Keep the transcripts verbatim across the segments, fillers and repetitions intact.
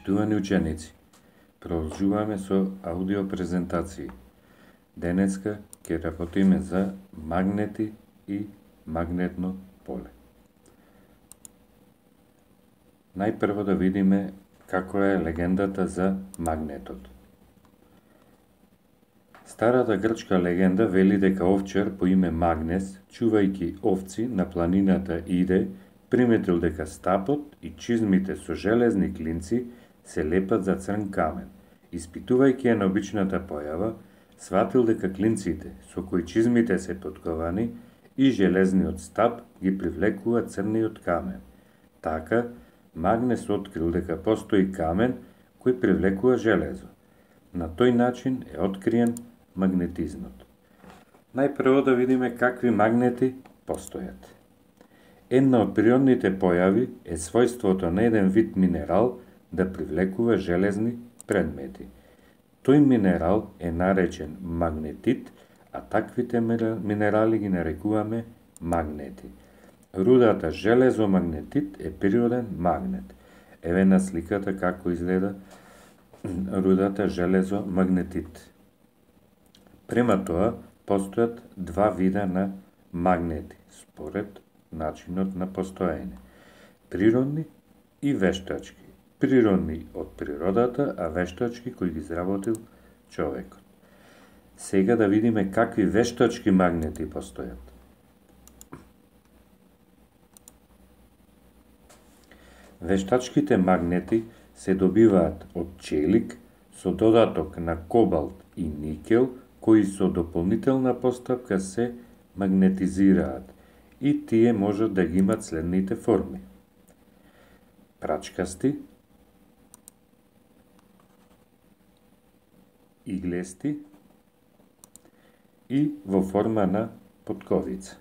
Почитувани ученици, продолжуваме со аудио презентации. Денеска ќе работиме за магнети и магнетно поле. Најпрво да видиме како е легендата за магнетот. Старата грчка легенда вели дека овчар по име Магнес, чувајќи овци на планината Иде, приметил дека стапот и чизмите со железни клинци се лепат за црн камен. Испитувајќи ја необичната појава, сватил дека клинците со кои чизмите се потковани и железниот стап ги привлекува црниот камен. Така, Магнес открил дека постои камен кој привлекува железо. На тој начин е откриен магнетизмот. Најпрво да видиме какви магнети постојат. Една од природните појави е својството на еден вид минерал да привлекува железни предмети. Тој минерал е наречен магнетит, а таквите минерали ги нарекуваме магнети. Рудата железомагнетит е природен магнет. Еве на сликата како изгледа рудата железомагнетит. Према тоа, постојат два вида на магнети, според начинот на постоење. Природни и вештачки. Природни од природата, а вештачки кои ги изработил човекот. Сега да видиме какви вештачки магнети постојат. Вештачките магнети се добиваат од челик со додаток на кобалт и никел, кои со дополнителна постапка се магнетизираат и тие можат да ги имат следните форми. Прачкасти, иглести и во форма на потковица.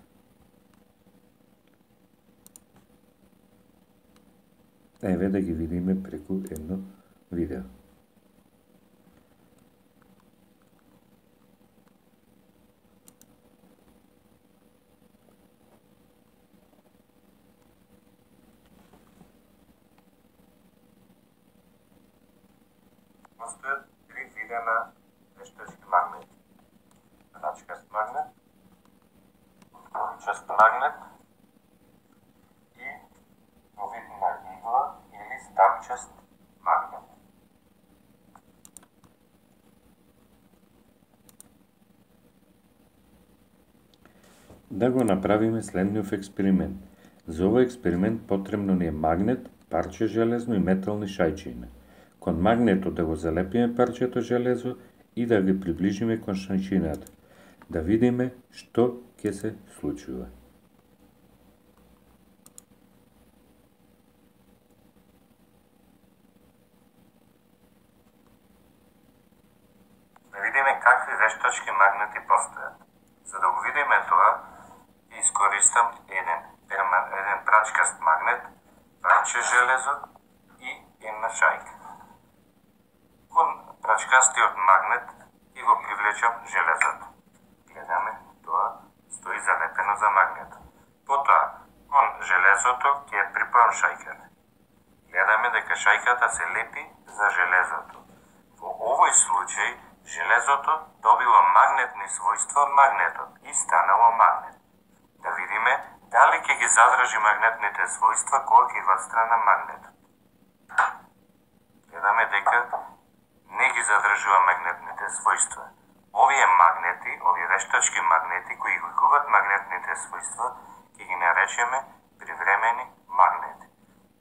Еве да ги видиме преку едно видео. Постојат три вида на вештачки магнети. Прачкаст магнет, потковичаст магнет и во вид на игла или стапчаст магнет. Да го направиме следниот експеримент. За овој експеримент потребно ни е магнет, парче железно и метални шајчиња. Кон магнетот да го залепиме парчето железо и да ги приближиме кон шајчината. Да видиме што ќе се случува. Да видиме какви вештачки магнети постојат. За да го видиме тоа, искористам еден, еден прачкаст магнет, парче железо и една шајка. Кон прачкастиот магнет и го привлечам железото. Гледаме, тоа стои залепено за магнетот. Потоа, кон железото ќе ја припајам шајката. Гледаме дека шајката се лепи за железото. Во овој случај, железото добило магнетни својства од магнетот и станало магнет. Да видиме дали ќе ги задржи магнетните својства кога ќе го отстрана магнетот. Гледаме дека не ги задржува магнетните својства. Овие магнети, овие вештачки магнети кои ги губат магнетните својства, ќе ги наречеме привремени магнети.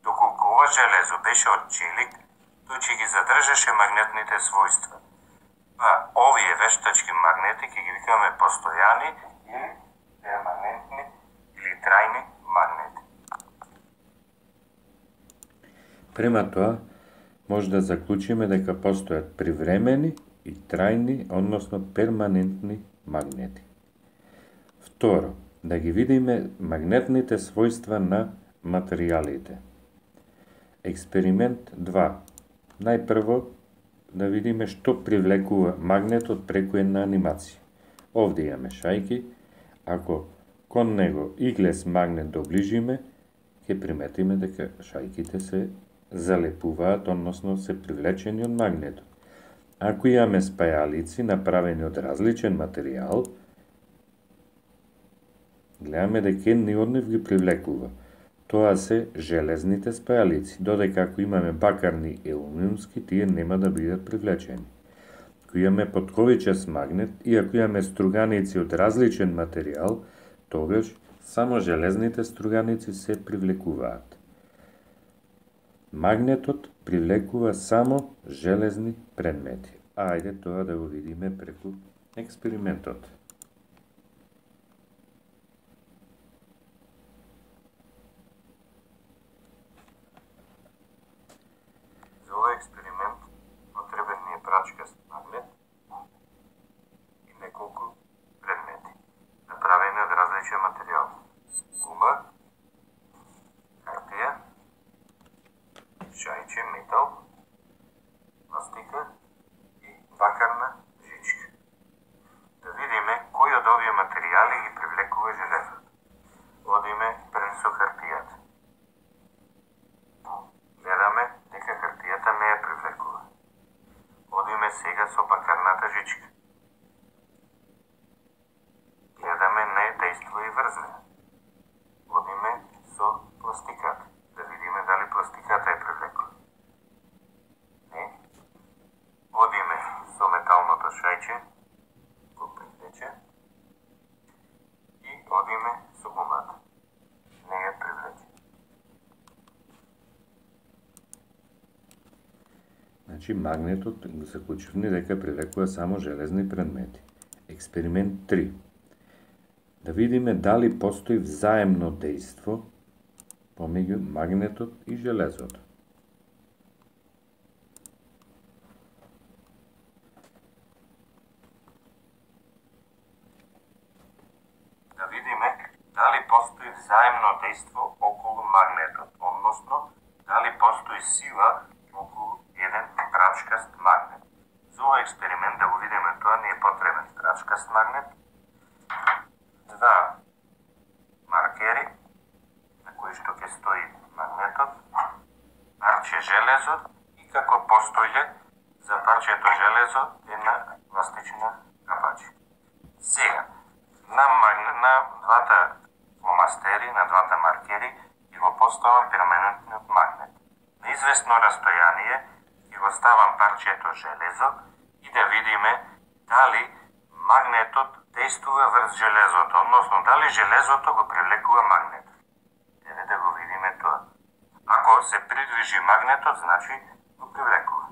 Доколку ова железо беше од челик, тој ќе ги задржаше магнетните својства. Па, овие вештачки магнети ќе ги викаме постојани или перманентни или трајни магнети. Према тоа, може да заклучиме дека постојат привремени и трајни, односно перманентни магнети. Второ, да ги видиме магнетните својства на материјалите. Експеримент два. Најпрво да видиме што привлекува магнетот преку една анимација. Овде имаме шајки, ако кон него иглес магнет доближиме, ќе приметиме дека шајките се залепуваат, односно се привлечени од магнетот. Ако имаме спајалици направени од различен материјал, гледаме дека едни од нив ги привлекува. Тоа се железните спајалици, додека ако имаме бакарни и алумиумски, тие нема да бидат привлечени. Ако имаме потковичест магнет и ако имаме струганици од различен материјал, тогаш само железните струганици се привлекуваат. Магнетот привлекува само железни предмети. Ајде тоа да го видиме преку експериментот. За овој експеримент потребен ни е прачкаст магнет и неколку предмети, направени од различен материјал. Гума, хартија, шајче, метал, пластика и бакарна жичка. Да видиме кој од овие материјали ги привлекува железот. Одиме пред со хартијата. Гледаме дека хартијата не ја привлекува. Одиме сега со бакарната жичка. Гледаме не дејства и врз неа. Одиме со пластиката. Да видиме дали пластиката е привлекува. Не. Одиме со металното шајче, го привлече, и одиме со гумата. Не ја привлече. Значи, магнетот заклучивме дека привлекува само железни предмети. Експеримент три. Да видиме дали постои взаемно дејство помеѓу магнетот и железото. Да видиме дали постои взаемно дејство околу магнетот, односно дали постои сила околу еден прачкаст магнет. За овој експеримент да го видиме тоа ни е потребен прачкаст магнет, два маркери на кои што ќе стои магнетот, парче железо и како постоје за парчето железо една пластична капачка. Сега, на, магнет, на двата фломастери, на двата маркери, ќе го поставам перманентниот магнет. На известно растојание ќе го ставам парчето железо и да видиме дали магнетот дејствува врз железото, односно дали железото го привлекува магнетот. Еве да го видиме тоа. Ако се придвижи магнетот, значи го привлекува.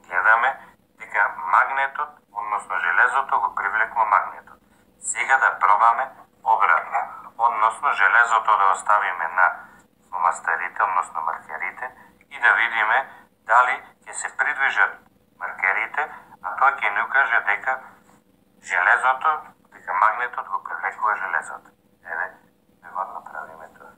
Гледаме дека магнетот, односно железото го привлекува магнетот. Сега да пробаме обратно, односно железото да оставиме на фломастерите, односно маркерите, и да видиме дали ќе се придвижат маркерите, а тоа ќе ни укаже дека железото, дека магнетот го привлекува железото. Еве, да го направиме тоа.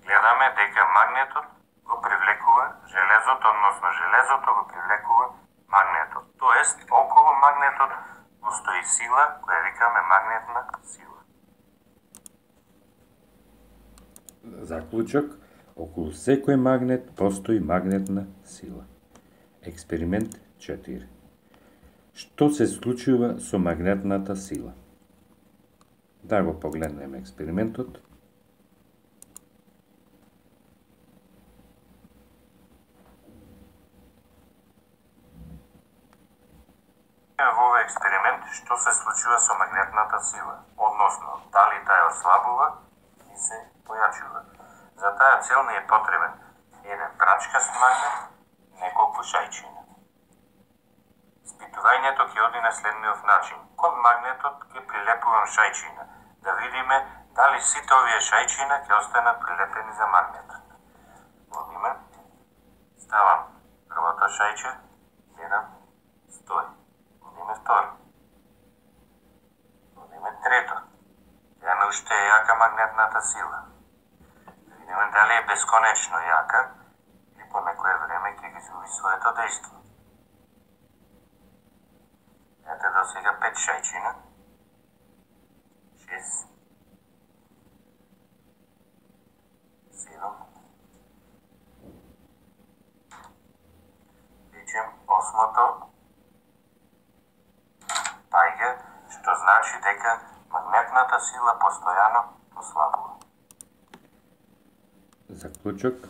Гледаме дека магнетот го привлекува железото, односно железото го привлекува магнетот. Тоест, околу магнетот постои сила која викаме магнетна сила. Заклучок, околу секој магнет постои магнетна сила. Експеримент четири. Што се случува со магнетната сила? Да го погледнеме експериментот. Во овој експеримент што се случува со магнетната сила, односно дали таа ослабува и се појачува. За таа цел ни е потребен еден прачкаст магнет и неколку шајчина. Испитувањето ќе оди на следниот начин. Кон магнетот ќе прилепувам шајчина, да видиме дали сите овие шајчина ќе останат прилепени за магнетот. Одиме, ставам првото шајче, гледам, стои. Одиме второ. Одиме трето. Ја не уште е јака магнетната сила. Да видиме дали е бесконечно јака или по изгуби своето дејство. Ете до сега пет шајчина. шест. седум. Речем осмото паѓа, што значи дека магнетната сила постојано ослабува. Заклучок: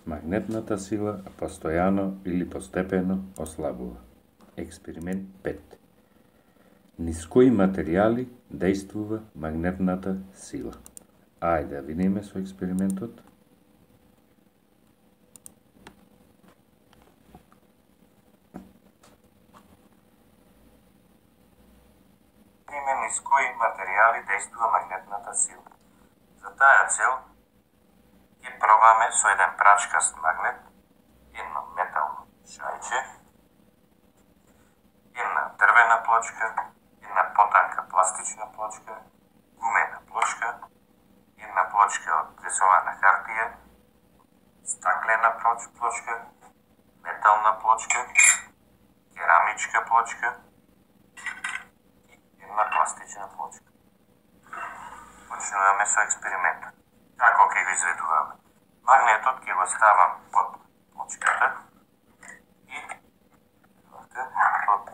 магнетната сила постојано или постепено ослабува. Експеримент пет. Низ кои материјали дејствува магнетната сила? Ајде да видиме со експериментот. Видиме низ кои материјали дејствува магнетната сила. За таа цел ќе пробаме со еден прачкаст магнет, едно метално шајче, една дрвена плочка, една потанка пластична плочка, гумена плочка, една плочка од пресована хартија, стаклена плочка, метална плочка, керамичка плочка и една пластична плочка. Почнуваме со експериментот. Како ќе го изведуваме? Магнетот ќе го ставам под плочката и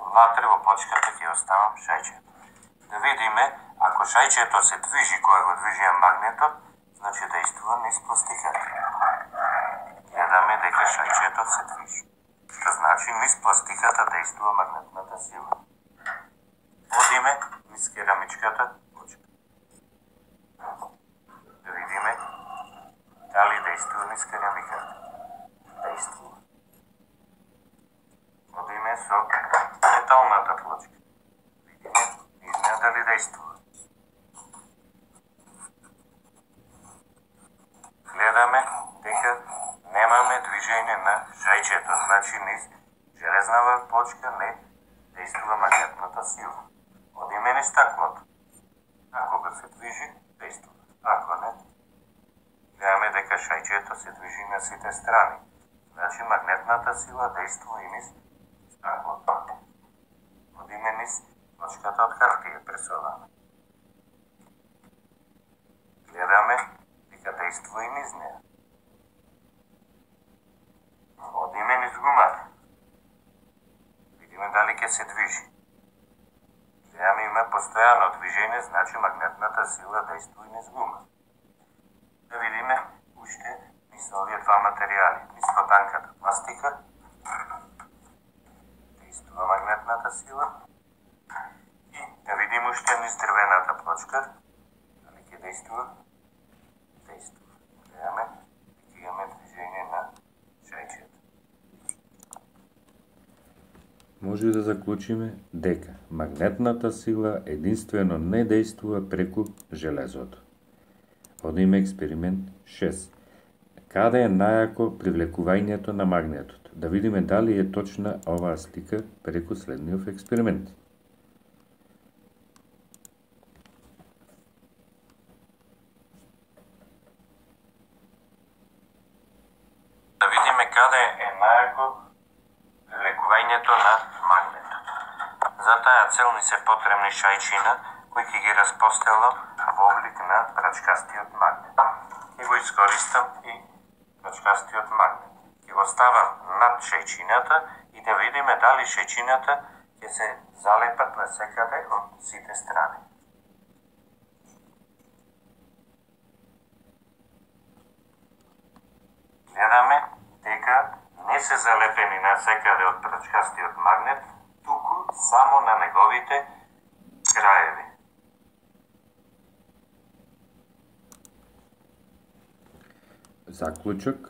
внатре во плочката ќе оставам шајчето. Да видиме, ако шајчето се движи кога го движиме магнетот, значи дејствува низ пластиката. Гледаме дека шајчето се движи. Што значи низ пластиката дејствува магнетната сила. Одиме низ керамичката плочка. Да видиме дали дејствува низ керамиката. Дејствува. Одиме со металната плочка. Видиме низ неа дали дејствува. Гледаме дека немаме движење на шајчето, значи низ железнава плочка не дејствува магнетната сила. Одиме низ стаклото. Ако го се движи, дејствува. Ако не, гледаме дека шајчето се движи на сите страни. Значи магнетната сила дејствува и низ стаклото. Одиме низ плочката од хартија пресована. Гледаме дека дејствува и низ неа. Одиме низ гумата. Видиме дали ќе се движи. Гледаме има постојано движење, значи магнетната сила дејствува и низ гумата. Да видиме уште низ овие два материјали. Низ потанката пластика дејствува магнетната сила и да видиме уште низ дрвената плочка дали ќе дејствува. Дејствува. Гледаме дека имаме движење на шајчето. Може да заклучиме дека магнетната сила единствено не дејствува преку железото. Одиме експеримент шест. Каде е најако привлекувањето на магнетот? Да видиме дали е точна оваа слика преку следниот експеримент. Да видиме каде е најако привлекувањето на магнетот. За таа цел ни се потребни шајчина кои ќе ги распостелам во облик на прачкастиот магнет. Ќе го искористам и прачкастиот магнет. Ќе го ставам над шајчината и да видиме дали шајчината ќе се залепат на секаде од сите страни. Гледаме дека не се залепени на секаде од прачкастиот магнет, туку само на неговите краеви. Заклучок: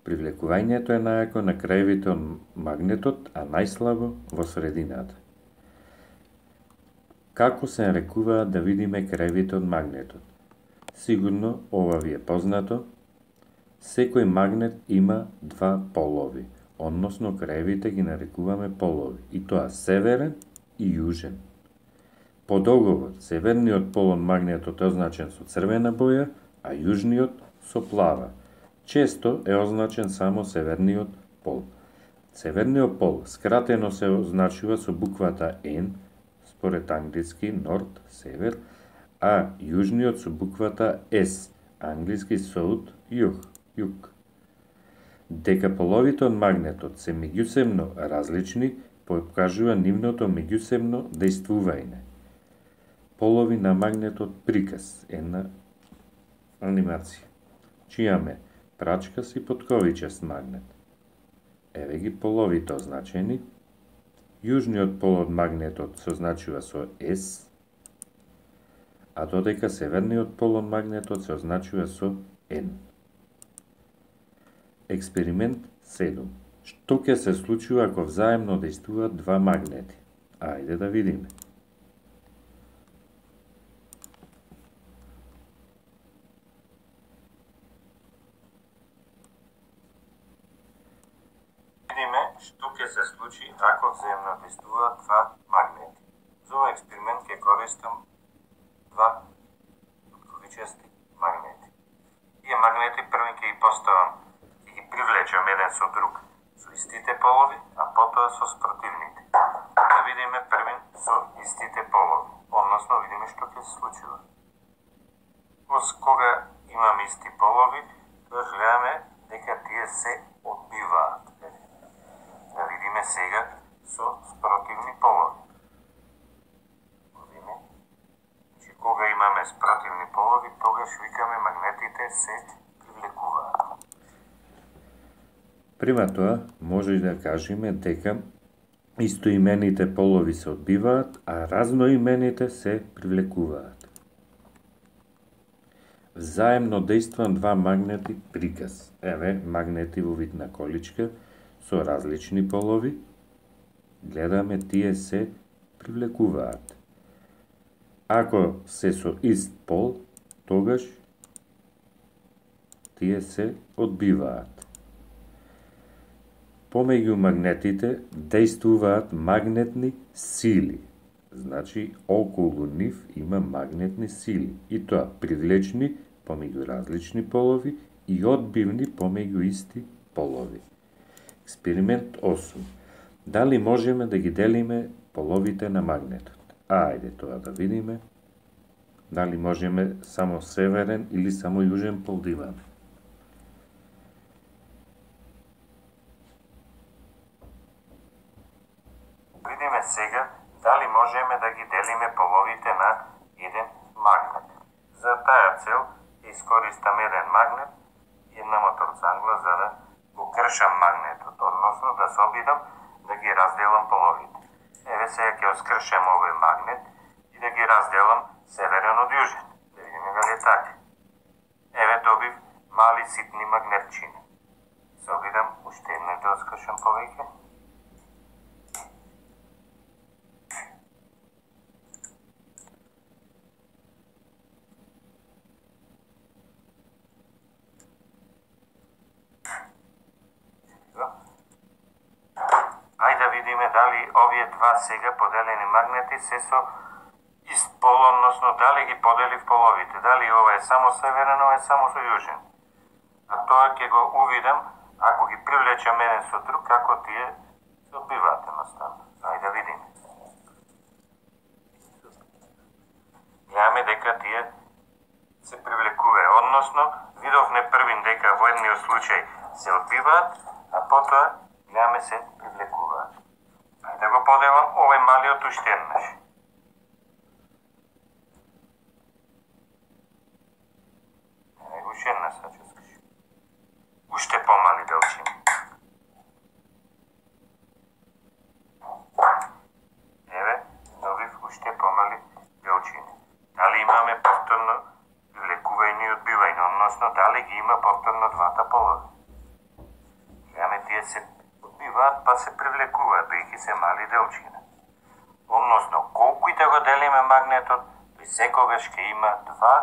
привлекувањето е најако на краевите од магнетот, а најслабо во средината. Како се нарекуваат да видиме краевите од магнетот? Сигурно ова ви е познато. Секој магнет има два полови, односно краевите ги нарекуваме полови, и тоа северен и јужен. По договор, северниот пол од магнетот е означен со црвена боја, а јужниот со плава. често е означен само северниот пол. Северниот пол скратено се означува со буквата N, според англиски норд, север, а јужниот со буквата S, англиски south, југ, југ. Дека половите од магнетот се меѓусебно различни, покажува нивното меѓусебно дејствување. Полови на магнетот приказ, една анимација. Чијаме прачкаст и потковичест магнет. Еве ги половите означени. Јужниот пол од магнетот се означува со S, а додека северниот пол од магнетот се означува со N. Експеримент седум. Што ќе се случува ако взаемно дејствуваат два магнети? Ајде да видиме. Видиме што ќе се случи ако взаемно дејствуваат два магнети. За овој експеримент ќе користам два потковичести магнети. Тие магнети први ќе ги поставам, ќе ги привлечам еден со друг со истите полови, а потоа со спротивните. Да видиме првин со истите полови, односно видиме што ќе се случува. Кога имаме исти полови, тоа гледаме дека тие се одбиваат. Да видиме сега со спротивни полови. Видиме, че кога имаме спротивни полови, тогаш викаме магнетите се привлекуваат. Према тоа, може да кажеме дека истоимените полови се одбиваат, а разноимените се привлекуваат. Взаемно дејстван два магнети приказ. Еве, магнети во вид на количка со различни полови. Гледаме, тие се привлекуваат. Ако се со ист пол, тогаш тие се одбиваат. Помеѓу магнетите дејствуваат магнетни сили. Значи, околу нив има магнетни сили. И тоа привлечни помеѓу различни полови и одбивни помеѓу исти полови. Експеримент осум. Дали можеме да ги делиме половите на магнетот? Ајде тоа да видиме. Дали можеме само северен или само јужен пол да имаме? Видиме сега дали можеме да ги делиме половите на еден магнет. За таа цел искористам еден магнет и една моторцангла за да го кршам магнетот, односно да се обидам да ги разделам половите. Еве сега ќе оскршам овој магнет и да ги разделам северен од јужен. Да видиме дали е така. Еве добив мали ситни магнетчини. Се обидам уште еднаш да оскршам повеќе. Ајде да видиме дали овие два сега поделени магнети се со ист пол, односно дали ги поделив половите, дали ова е само северен, ова е само со јужен. А тоа ќе го увидам ако ги привлечам еден со друг, како тие се одбиваат едноставно. Ајде да видиме. Гледаме дека тие се привлекуваат, односно видовме првин дека во едниот случај се одбиваат, а потоа гледаме се привлекуваат. Ајде да го поделам овој малиот уште еднаш. Еве уште еднаш ќе скажам. Уште помали делчини. Еве, добив уште помали делчини. Дали имаме повторно привлекување и одбивање, односно дали ги има повторно двата полови. Гледаме тие се одбиваат, па се привлекуваат, бејќи се мали делчина. Односно, колку и да го делиме магнетот, тој секогаш ќе има два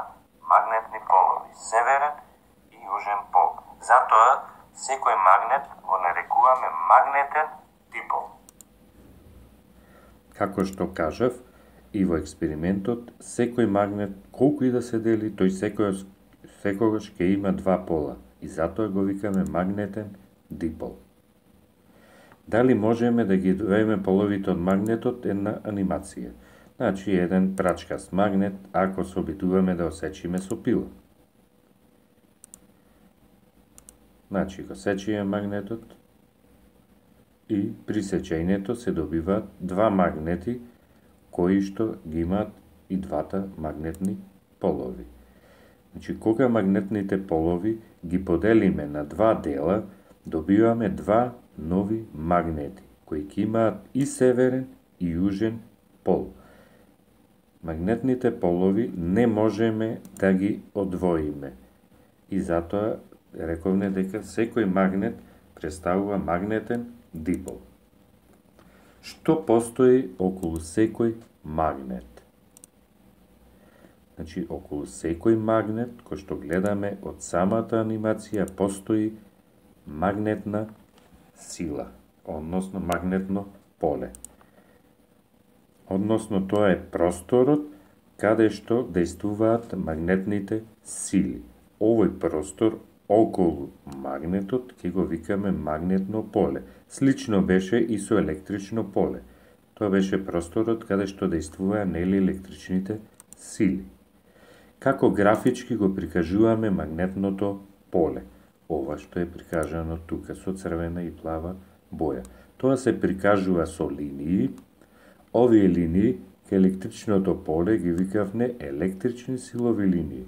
магнетни полови, северен и јужен пол. Затоа, секој магнет го нарекуваме магнетен дипол. Како што кажав, и во експериментот, секој магнет, колку и да се дели, тој секогаш, секогаш ќе има два пола, и затоа го викаме магнетен дипол. Дали можеме да ги доеме половите од магнетот е на анимација. Значи, еден прачкаст магнет, ако се обидуваме да осечиме со пила. Значи, го сечиме магнетот и при сечењето се добиваат два магнети кои што ги имаат и двата магнетни полови. Значи, кога магнетните полови ги поделиме на два дела, добиваме два нови магнети, кои ќе имаат и северен и јужен пол. Магнетните полови не можеме да ги одвоиме. И затоа рековме дека секој магнет представува магнетен дипол. Што постои околу секој магнет? Значи, околу секој магнет, кој што гледаме од самата анимација, постои магнетна сила, односно магнетно поле. Односно, тоа е просторот каде што дејствуваат магнетните сили. Овој простор околу магнетот ќе го викаме магнетно поле. Слично беше и со електрично поле. Тоа беше просторот каде што дејствуваа нели електричните сили. Како графички го прикажуваме магнетното поле? Ова што е прикажано тука со црвена и плава боја. Тоа се прикажува со линии. Овие линии ке електричното поле ги викавме електрични силови линии.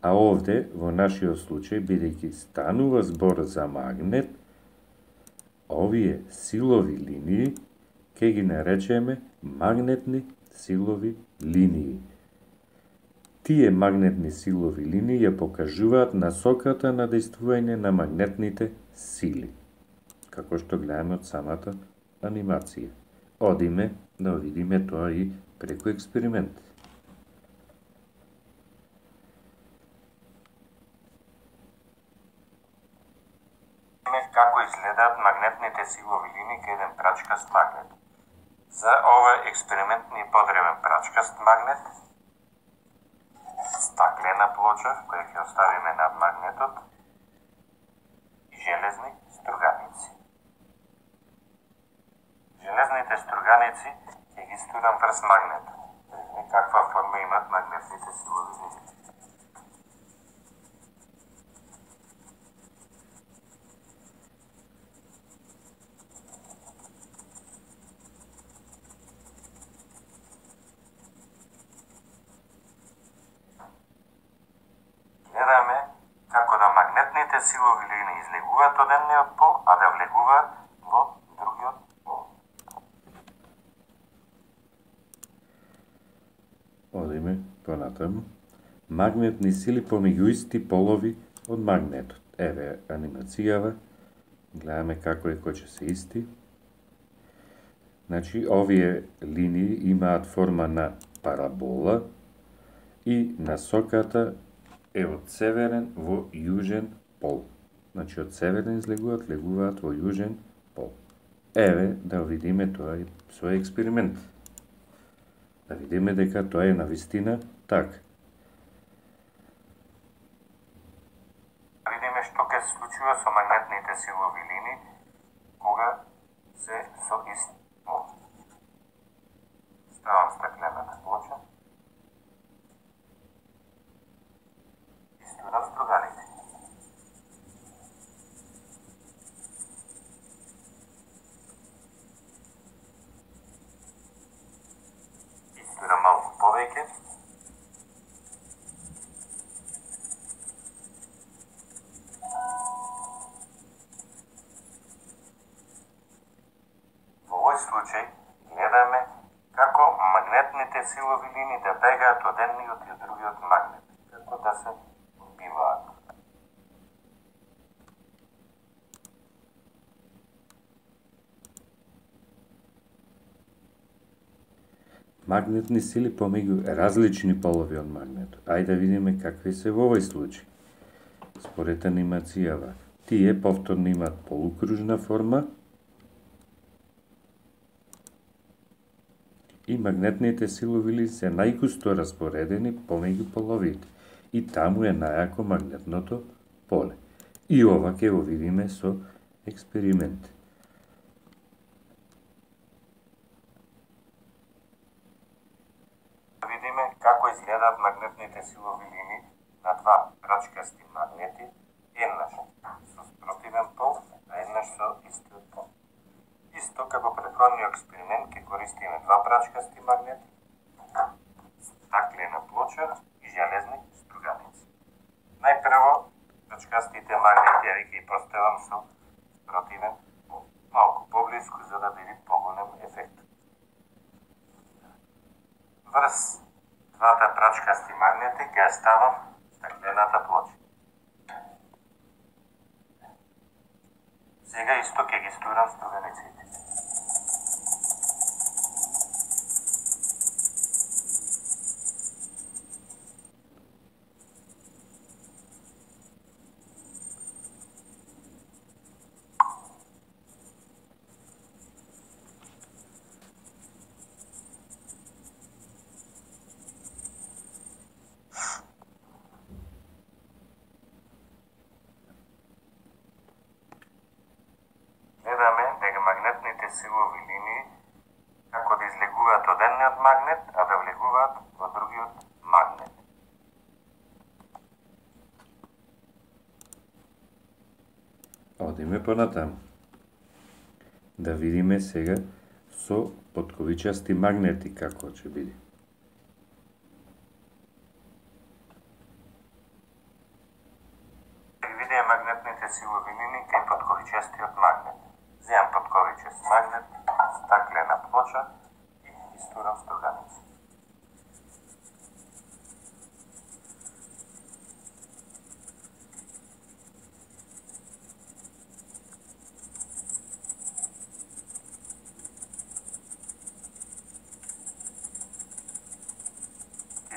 А овде, во нашиот случај, бидејќи станува збор за магнет, овие силови линии ке ги наречеме магнетни силови линии. Тие магнетни силови линии ја покажуваат насоката на дејствување на магнетните сили, како што гледаме од самата анимација. Одиме да видиме тоа и преку експеримент. Како изгледаат магнетните силови линии кај еден прачкаст магнет. За овој експеримент ни потребен прачкаст магнет, стаклена плоча која ќе оставиме над магнетот и железни струганици. Железните струганици ќе ги стурам врз магнетот. Каква форма имат магнетните силови линии. Гледаме како да магнетните силови линии излегуваат од едниот пол, а да влегуваат во другиот пол. Одиме понатаму. Магнетни сили помеѓу исти полови од магнетот. Еве анимацијава. Гледаме како е кој че се исти. Значи, овие линии имаат форма на парабола и насоката е од северен во јужен пол. Значи, од северен излегуваат, легуваат во јужен пол. Еве, да видиме тоа и со експеримент. Да видиме дека тоа е навистина така. Видиме што ќе се случува со магнетните силови линии кога се со ист пол. Ставам стаклената плоча. Истурам струганици. Истурам малку повеќе. Во овој случај гледаме како магнетните силови линии да бегаат од едниот и од другиот магнет, како да се биваат. Магнетни сили помеѓу различни полови од магнетот. Ајде да видиме какви се во овој случај. Според анимацијава, тие повторно имаат полукружна форма и магнетните силови линии се најгусто распоредени помеѓу половите и таму е најако магнетното поле. И ова ќе го видиме со експеримент. Видиме како изгледаат магнетните силови линии на два прачкасти магнети, еднаш со спротивен пол, а еднаш со истиот пол. Исто како претходниот експеримент ќе користиме два прачкасти магнети, стаклена плоча и железни струганици. Најпрво, прачкастите магнети ја ќе ги поставам со спротивен пол, малку поблиску за да биде поголем ефект. Врз двата прачкасти магнети ќе ставам стаклената плоча. Сега исто ќе ги стурам струганиците. Гледаме дека магнетните силови линии како да излегуваат од едниот магнет, а да влегуваат во другиот магнет. Одиме понатаму. Да видиме сега со потковичасти магнети како ќе биде. Видиме магнетните силови линии кај потковичастиот магнет. Земам потковичаст магнет, стаклена плоча и истурам струганица.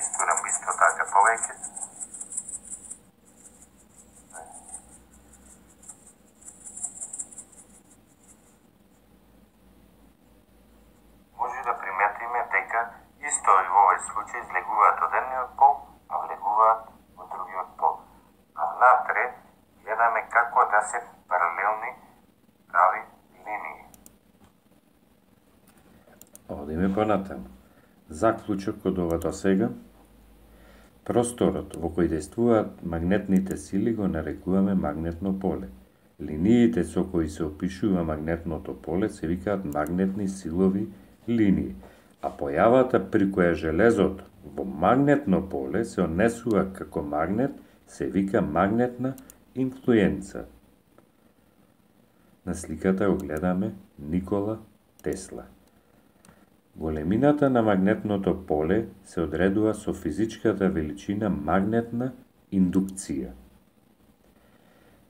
Истурам исто така повеќе. Може да приметиме дека исто и во овој случај излегуваат од едниот пол, а влегуваат во другиот пол. А внатре гледаме како да се паралелни прави линии. Одиме понатаму. Заклучок од ова до сега. Просторот во кој действуваат магнетните сили го нарекуваме магнетно поле. Линиите со кои се опишува магнетното поле се викаат магнетни силови линии, а појавата при која железото во магнетно поле се однесува како магнет се вика магнетна инфлуенца. На сликата го гледаме Никола Тесла. Големината на магнетното поле се одредува со физичката величина магнетна индукција.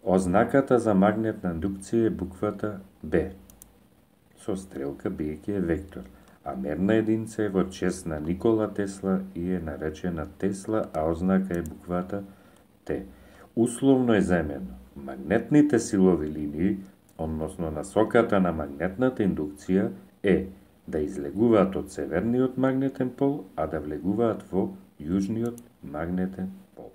Ознаката за магнетна индукција е буквата Б, со стрелка биеќи е вектор, а мерна единица е во чест на Никола Тесла и е наречена Тесла, а ознака е буквата Т. Условно е земено. Магнетните силови линии, односно насоката на магнетната индукција е да излегуваат од северниот магнетен пол, а да влегуваат во јужниот магнетен пол.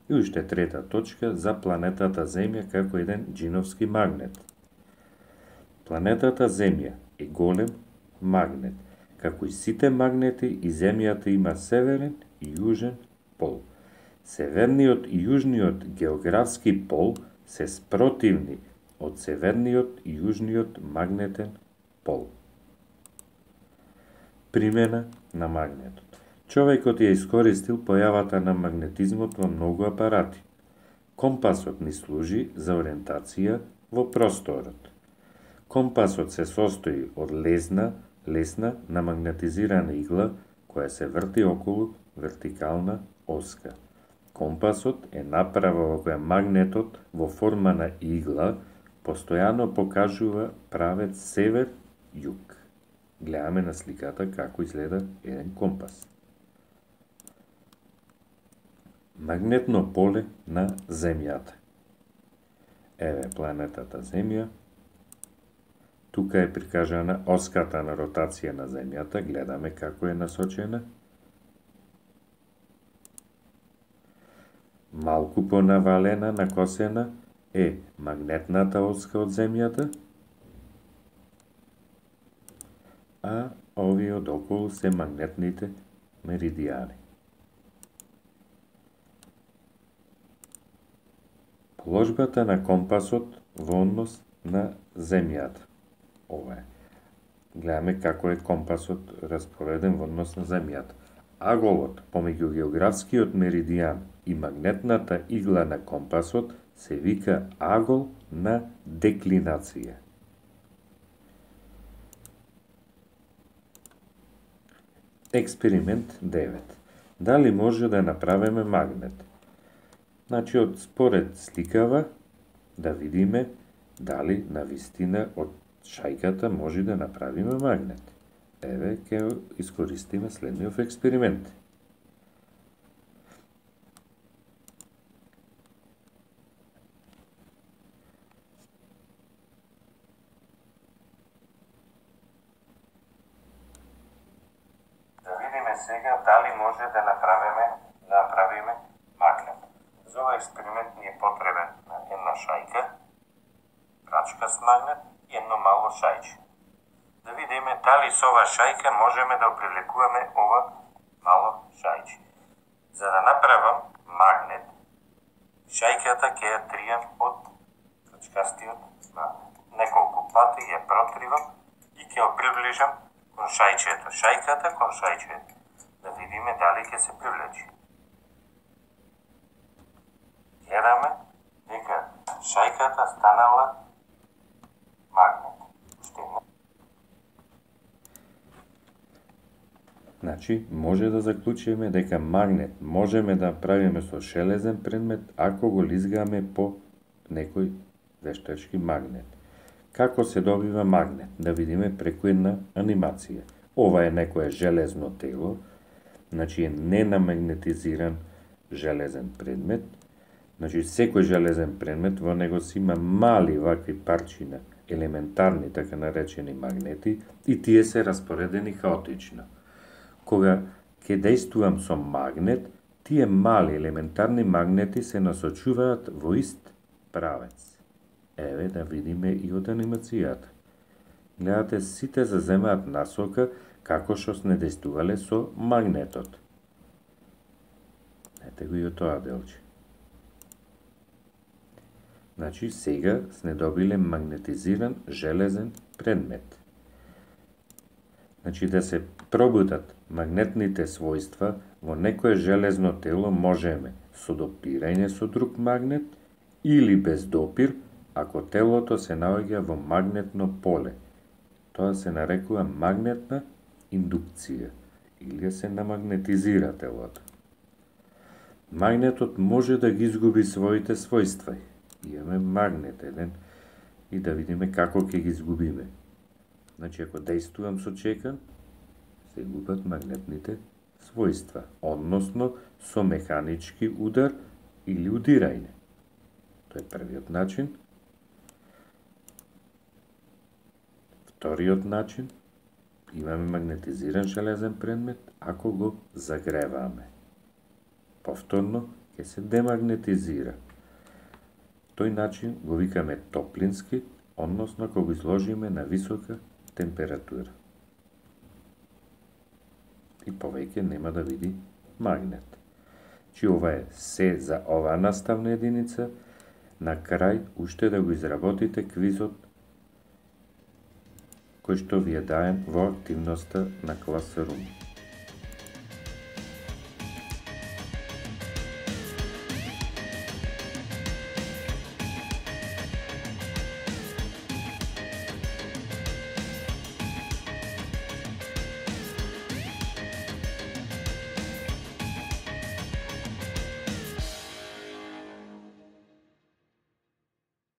И уште трета точка за планетата Земја како еден џиновски магнет. Планетата Земја е голем магнет. Како и сите магнети, и Земјата има северен и јужен пол. Северниот и јужниот географски пол се спротивни од северниот и јужниот магнетен пол. Примена на магнетот. Човекот ја искористил појавата на магнетизмот во многу апарати. Компасот ни служи за ориентација во просторот. Компасот се состои од лесна, лесна намагнетизирана игла која се врти околу вертикална оска. Компасот е направа во која магнетот во форма на игла постојано покажува правец север-југ. Гледаме на сликата како изгледа еден компас. Магнетно поле на Земјата. Еве планетата Земја. Тука е прикажана оската на ротација на Земјата. Гледаме како е насочена. Малку понавалена, накосена е магнетната оска од земјата, а овие одоколу се магнетните меридијани. Положбата на компасот во однос на земјата. Ова е. Гледаме како е компасот распореден во однос на земјата. Аголот помеѓу географскиот меридијан и магнетната игла на компасот се вика агол на деклинација. Експеримент девет. Дали може да направиме магнет? Значи, од според сликава да видиме дали навистина од шајката може да направиме магнет. Еве, ќе искористиме следниот експеримент. Да видиме сега дали може да направиме, да направиме магнет. За овој експеримент ни е потребен една шајка, прачкаст магнет и едно мало шајче. Да видиме дали со ова шајка можеме да привлекуваме ова мало шајче. За да направам магнет, шајката ќе ја тријам од прачкастиот магнет. Неколку пати ја протривам и ќе ја приближам кон шајчето. Шајката кон шајчето. Да видиме дали ќе се привлечи. Гледаме дека шајката станала магнет. Уште не. Значи, може да заклучиме дека магнет можеме да правиме со шелезен предмет ако го лизгаме по некој вештачки магнет. Како се добива магнет? Да видиме преку една анимација. Ова е некое железно тело, значи е ненамагнетизиран железен предмет. Значи, секој железен предмет во него си има мали вакви парчина, елементарни, така наречени магнети, и тие се распоредени хаотично. Кога ќе дејствувам со магнет, тие мали елементарни магнети се насочуваат во ист правец. Еве да видиме и од анимацијата. Гледате, сите заземаат насока како што сне дејствувале со магнетот. Ете го и од тоа делче. Значи, сега сне добиле магнетизиран железен предмет. Значи, да се пробудат магнетните својства во некое железно тело можеме со допирање со друг магнет или без допир, ако телото се наоѓа во магнетно поле. Тоа се нарекува магнетна индукција или се намагнетизира телото. Магнетот може да ги изгуби своите својства. Имаме магнет еден и да видиме како ќе ги изгубиме. Значи, ако дејствувам со чекан, се губат магнетните својства, односно со механички удар или удирање. Тоа е првиот начин. Вториот начин, имаме магнетизиран железен предмет ако го загреваме. Повторно ќе се демагнетизира. Тој начин го викаме топлински, односно кога го изложиме на висока температура. И повеќе нема да види магнет. Чи ова е се за оваа наставна единица. На крај уште да го изработите квизот кој што ви е даен во активноста на класерум.